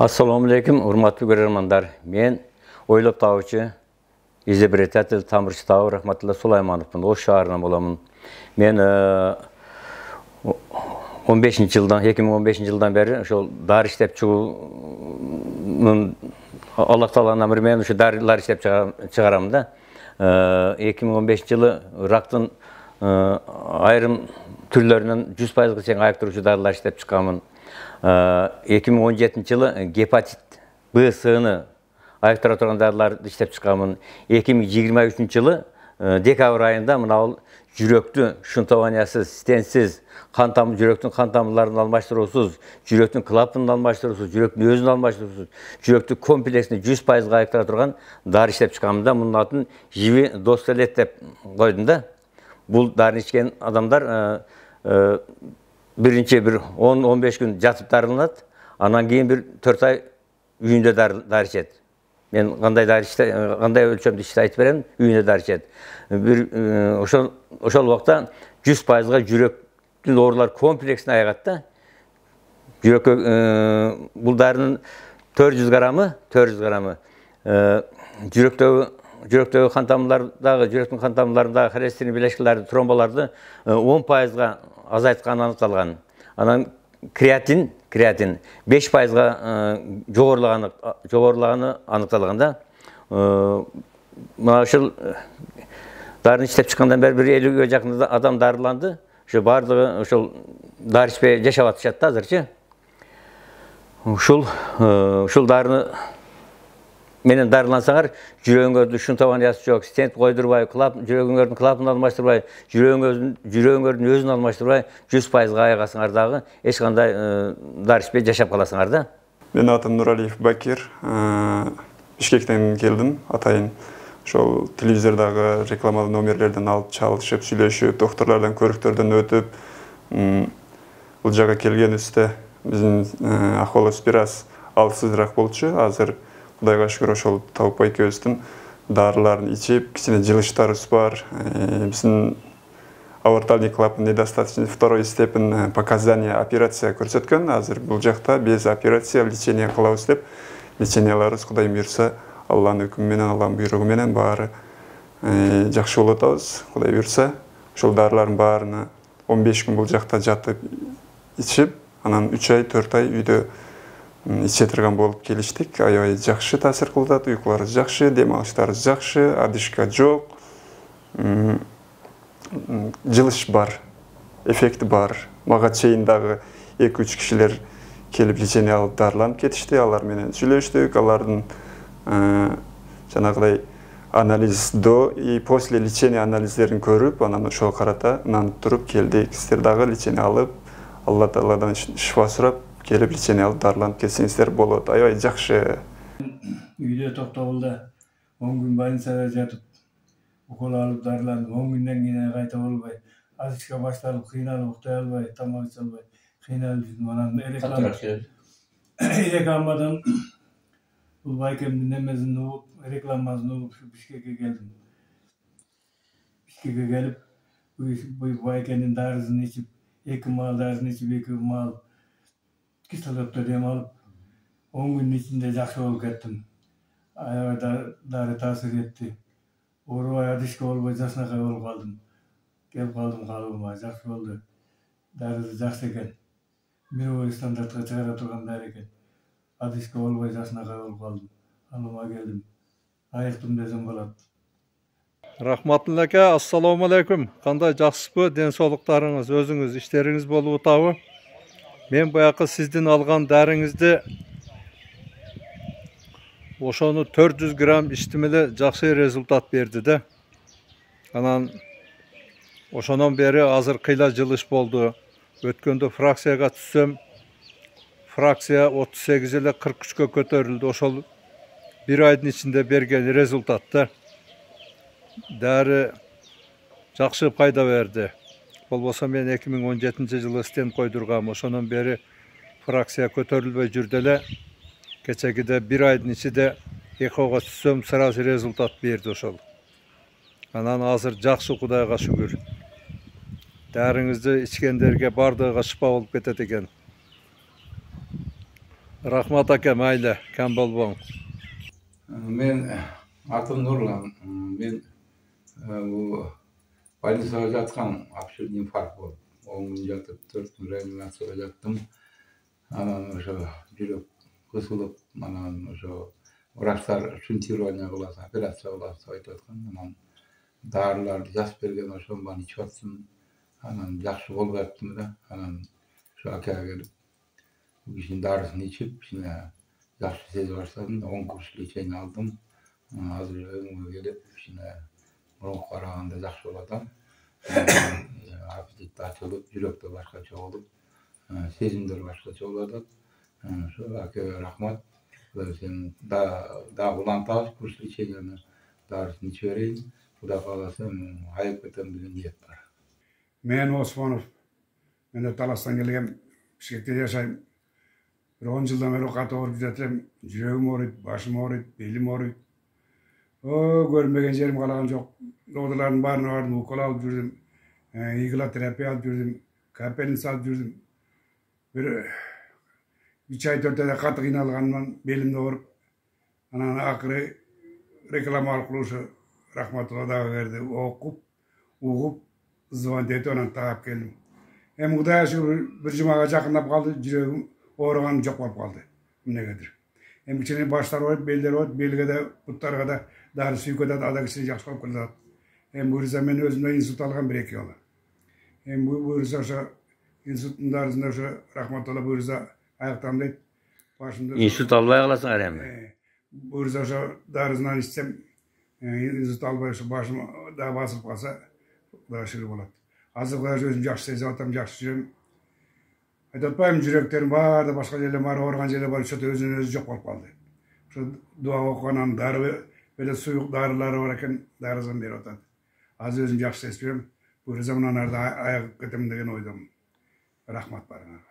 Assalomu alaykum, hurmatli ko'rarmanlar. Men o'ylab topuvchi izobretатель Tamirchi Tavur Rahmatilla Sulaymanovman. O'sh shahridan bo'laman. Men 2015-yildan beri o'sha dori ishlab chiquvning Alloh taolodan amri men o'sha dorilar ishlab chiqaramda. 2015-yili rakdan ayrim turlaridan 100%gacha ayıktırıcı dorilar ishlab chiqaman. 2017-yılı gepatit B-sini ayıktыра turgan dorilarni ishlab chiqaman. 2023-yılı dekabr ayında mınau жүрөктү шунтованиясыз, стенсиз, жүрөктүн кан тамырларын алмаштыруусуз, жүрөктүн клапанын алмаштыруусуз, жүрөктүн өзүн алмаштыруусуз, жүрөктүн комплексин 100%га айыктыра турган дары иштеп чыкканмын да. Мунун атын Живи Достолет деп койдум да. Бул дарыны ичкен адамдар биринчи 10-15 күн жатып дарыланат, анан кийин бир 4 ай үйүндө дары ичет. Мен кандай өлчөмдү ишти айтып берем, үйүндө дары ичет. Ошол убакта 100%га жүрөктүн оорулар комплексине айыгат да. Жүрөккө бул дарынын 400 граммы жүрөктөгү кан тамырлардагы, жүрөктүн кан тамырларындагы холестерин биleşкелерди, тромболорду 10%га азайтканы аныкталган. Анан креатин 5%га жогорулаганы аныкталган да. Мына ушул дарыны иштеп чыккандан бери 50-ге жакын адам дарыланды. Ошо бардыгы ошол дары ичпей жашап атышат да азырчы. Ушул дарыны менен дарылансаңар, жүрөгүңөрдүн шунтованиясы жок, стент койдурбай, жүрөгүңөрдүн клапанын алмаштырбай, жүрөгүңөрдүн өзүн алмаштырбай 100%га айыгасыңар дагы, эч кандай дары ичпей жашап каласыңар да. Менин атым Нуралиев Бакир. Бишкектен келдим. Атайын ошол телевизордогу рекламалуу номерлерден алып чалышып, сүйлөшүп, докторлордон көрүктөрдөн өтүп, бул жака келгенибизде биздин акыбалыбыз бир аз алсызыраак болчу. Азыр Кудайга шүгүр ошол Табыкбай экөөбүздүн дарыларын ичип, кичине жылыштарыбыз бар. Биздин аортальный клапан недостаточный второй степень показания операция көрсөткөн. Азыр бул жакта без операция лечение кылабыз деп, леченияларыбыз Кудай буйрса, Алланын өкүмү менен, Алланын буйругу менен баары жакшы болуп атабыз. Кудай буйрса, ошол дарылардын баарына 15 күн бул жакта жатып ичип, анан 3 ай, 4 ай үйдө иче турган болуп келиштик. Аябай жакшы таасир кылып атат, уйкуларыбыз жакшы, дем алыштарыбыз жакшы, одышка жок. Жылыш бар, эффекти бар. Мага чейин дагы 2-3 кишилер келип лечение алып дарыланып кетишти. Алар менен сүйлөштүк, алардын жанагыдай анализ до и после лечения анализдерин көрүп, анан ошого карата нанып туруп келдик. Сиздер дагы лечение алып, Алла Тааладан шифа сурап, келип лечение алып дарыланып кетсеңиздер болот. Аябай жакшы. Үйдө токтогулда 10 күн больницада жатып, укол алып дарыландым. 10 күндөн кийин кайта болбой, азычка башталып, кыйналып уктай албай, тамак иче албай, кыйналып жүрдүм. Анан рекламадан бул байкемдин немесин угуп, рекламасын угуп, Бишкекке келдим. Бишкекке келип, бул байкенин дарысын ичип, 2 маал дарысын ичип, 2 маал кислороддо дем алып, 10 күндүн ичинде жакшы болуп кеттим. Аябай дары таасир этти. Оорубай, одышка болбой, жакшынакай болуп калдым. Келип калдым калыбыма, жакшы болду. Дарысы жакшы экен. Мировой стандартка чыгара турган дары экен. Одышка болбой, жакшынакай болуп калдым. Алыма келдим. Айыктым десем болот. Рахматулла ака, ассаламу алейкум. Кандай жакшысызбы? Ден соолуктарыңыз, өзүңүз иштериңиз болуп атабы? Мен баягы сиздин алган дарыңызды ошону 400 грамм иштим эле жакшы результат берди да. Анан ошонон бери азыр кыйла жылыш болду. Өткөндө фракцияга түссөм, фракция 38 эле 43-кө көтөрүлдү. Ошол бир айдын ичинде берген результат да. Дары жакшы пайда берди. Болбосо мен 2017-жылы стент койдургам. Ошонон бери фракция көтөрүлбөй жүрдү эле. Кечегиде бир айдын ичинде экого түссөм, сразу результат берди ошол. Анан азыр жакшы, Кудайга шүгүр. Дарыңызды ичкендерге бардыгыга шыпа болуп кетет экен. Рахмат аке, майлы, кем болбоң. Мен атым Нурлан. Мен больницада жаткан обширный инфаркт болуп, 10 күн жатып, 4 күн реанимацияда жаттым. Анан ошо жүрөк кысылып, анан ошо врачтар шунтирование кылат, операция кылат деп айтып аткан. Анан дарыларды жазып берген, ошону баарын ичип аттым. Анан жакшы болуп аттым да. Анан ошо акега келип, бул кишинин дарысын ичип, кичине жакшы сезе баштадым. 10 курс лечение алдым. Азыр өзүмө келип, кичине мурунку караганда жакшы болуп атам. Аппетит ачылып, жүрөк да башкача болуп, сезимдер башкача болуп атат. Ошо акеге рахмат. Сен да улантабыз курс леченияны, дарысын иче берейин. Кудай кааласа, айыгып кетем деген ниет бар. Мен Осмонов. Мен Таластан келгем. Бишкекте жашайм. 10 жылдан бери катуу ооруп жатам. Жүрөгүм ооруйт, башым ооруйт, белим ооруйт. Көрмөгөн жерим калаган жок. Доктурлардын баарына бардым, укол алып жүрдүм. Иглотерапия алып жүрдүм. Капельница алып жүрдүм. Бир 3 ай 4 айда катуу кыйналганымдан белимде ооруп. Анан акыры реклама аркылуу ушу Рахматулла дагы берди. Окуп, угуп, звонить этип анан таап келдим. Эми Кудайга шүгүр бир жумага жакындап калды, жүрөгүм ооруганым жок болуп калды. Эмнегедир. Эми кичине баштар ооруйт, белдер ооруйт, белге да, буттарга да дары сүйүп атат, ада кичине жакшы болуп келатат. Эми буюрса мен өзүмдө инсульт алгам 1-2 жолу. Эми буюрса ошо инсульттун дарысын ошо Рахматулла буюрса аяктам дейт. Башымда инсульт албай каласыңар эми. Буюрса ошо дарысынан ичсем, инсульт албай ошо башым да басылып калса, Кудайга шүгүр болот. Азыр Кудайга өзүм жакшы сезип атам, жакшы жүрөм. Айтып атпайм, жүрөктерим бар да башка жерлер бар, ооруган жерлер бар, ошо өзүнөн өзү жок болуп калды. Ошо дуа окуганан дары беле суюк дарылары бар экен, дарысын берип атат. Азыр өзүм жакшы сезип жүрөм. Буюрса мындан арда айыгып кетем деген ойдомун. Рахмат барыңарга.